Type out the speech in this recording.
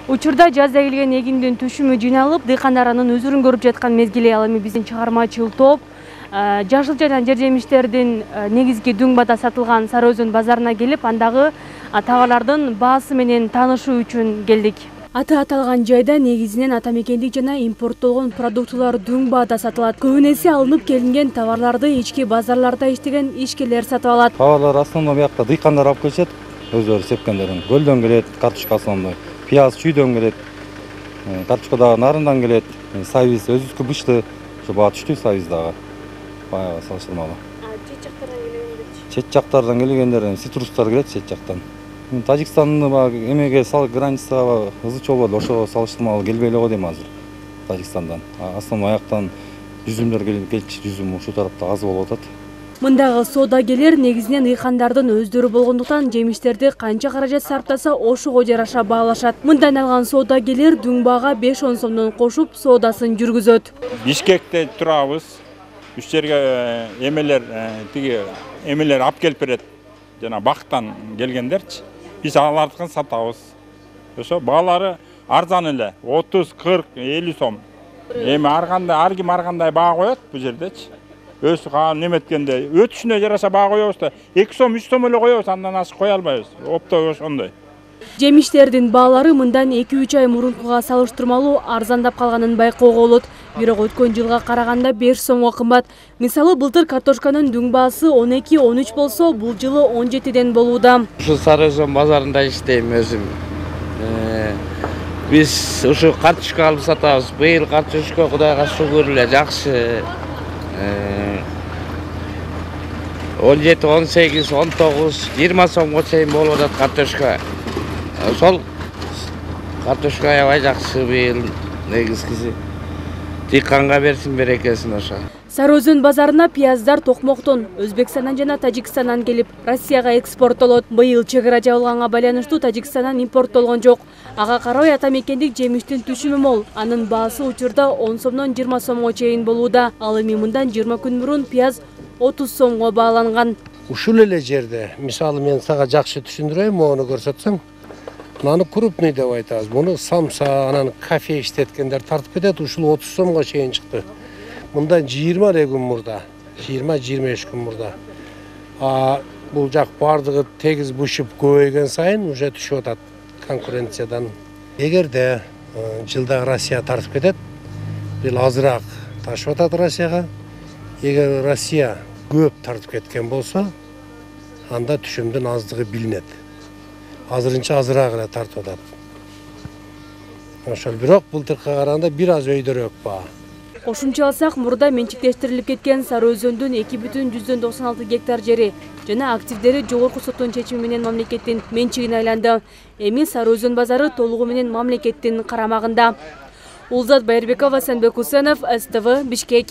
Учурда жазда келген эгиндин түшүмү жыйналып, дыйкандар анын өзүрүн көрүп жаткан мезгили. Ал эми биздин чыгармачыл топ жашыл жана жер жемиштердин негизги дүң бада сатылган Сары Өзөн базарына келип, андагы товарлардын баасы менен таанышуу үчүн келдик. Аты аталган жайда негизинен ата мекендик жана импорттолгон продуктулар дүң баада сатылат. Көбүнесе алынып келинген товарларды ички базарларда иштеген ишкерлер сатып алат. Товарлар основном бияқта дыйкандар алып келишет, өздөрү сепкендерин. Көлдөн келет, картошка основной, пияз чүйдөн келет, картошка дагы нарындан келет, сабиз өзүбүзгө бышты, ушу баа түштү сабиз дагы. Баягы салыштырмалуу. Чет жактардан келгендер? Чет жактардан келгендер, цитрустар келет чет жактан. Тажикстандын эмеге границага ызы чолбоду, ошого салыштырмалуу келбей эле го дейм азыр. Тажикстандан. Основной аяктан жүзүмдөр келчү, жүзүм ушул тарапта аз болуп атат. Мындагы соодагерлер негизинен ыйкандардын өздөрү болгондуктан жемиштерди канча каражат сарптаса ошого жараша баалашат. Мындан алган соодагерлер дүң баага 5-10 сомдон кошуп соодасын жүргүзөт. Бишкекте турабыз. Үч жерге эмелер алып келип берет. Жана бактан келгендерчи. Биз алардыкын сатабыз. Ошо баалары арзан эле. 30, 40, 50 сом. Эми ар ким ар кандай баа коет бул жердечи. Өз неметкенде өтүшүнө жараша баа коебуз да 2 сом, 3 сом эле коебуз, андан ашык кое албайбыз. Оптой ошондой. Жемиштердин баалары мындан 2-3 ай мурункуга салыштырмалуу арзандап калганын байкоого болот. Бирок өткөн жылга караганда 5 сомго кымбат. Мисалы, былтыр картошканын дүң баасы 12-13 болсо, бул жылы 17ден болууда. Ушу Сары Өзөн базарында иштейм өзүм. Биз ушу картошка алып сатабыз. Быйыл картошка Кудайга шүгүр эле жакшы. 17, 18, 19, 20 сомго чейин болуп атат картошка. Ошол картошка аябай жакшы быйыл негизгиси. Дыйканга берсин берекесин ошо. Сары Өзөн базарына пияздар Токмоктон, Өзбекстандан жана Тажикстандан келип, Россияга экспорттолот. Быйыл чек ара жабылганга байланыштуу Тажикстандан импорттолгон жок. Ага карабай ата мекендик жемиштин түшүмү мол. Анын баасы учурда 10 сомдон 20 сомго чейин болууда. Ал эми мындан 20 күн мурун пияз 30 сомго бааланган. Ушул эле жерде, мисалы мен сага жакшы түшүндүрөйм, мону көрсөтсөң. Муну крупный деп айтабыз. Муну самса, анан кофе иштеткендер тартып кетет, ушул 30 сомго чейин чыкты. Мындан 20 күн мурда, 20-25 күн мурда. Бул жак бардыгы тегиз бушуп көбөйгөн сайын уже түшүп атат конкуренциядан. Эгерде жылда Россия тартып кетет, бул азыраак ташып атат Россияга. Эгер Россия көп тартып кеткен болсо, анда түшүмдүн аздыгы билинет. Азырынча азыраак эле тартып атат. Ошол бирок былтыркыга караганда бир аз өйдөрөөк баа. Кошумча алсак, мурда менчиктештирилип кеткен Сары Өзөндүн 2,96 гектар жери жана активдери жогорку соттун чечими менен мамлекеттин менчигине айланды. Эми Сары Өзөн базары толугу менен мамлекеттин карамагында. Улзат Байырбекова, Сенбек Усенов, СТВ, Бишкек.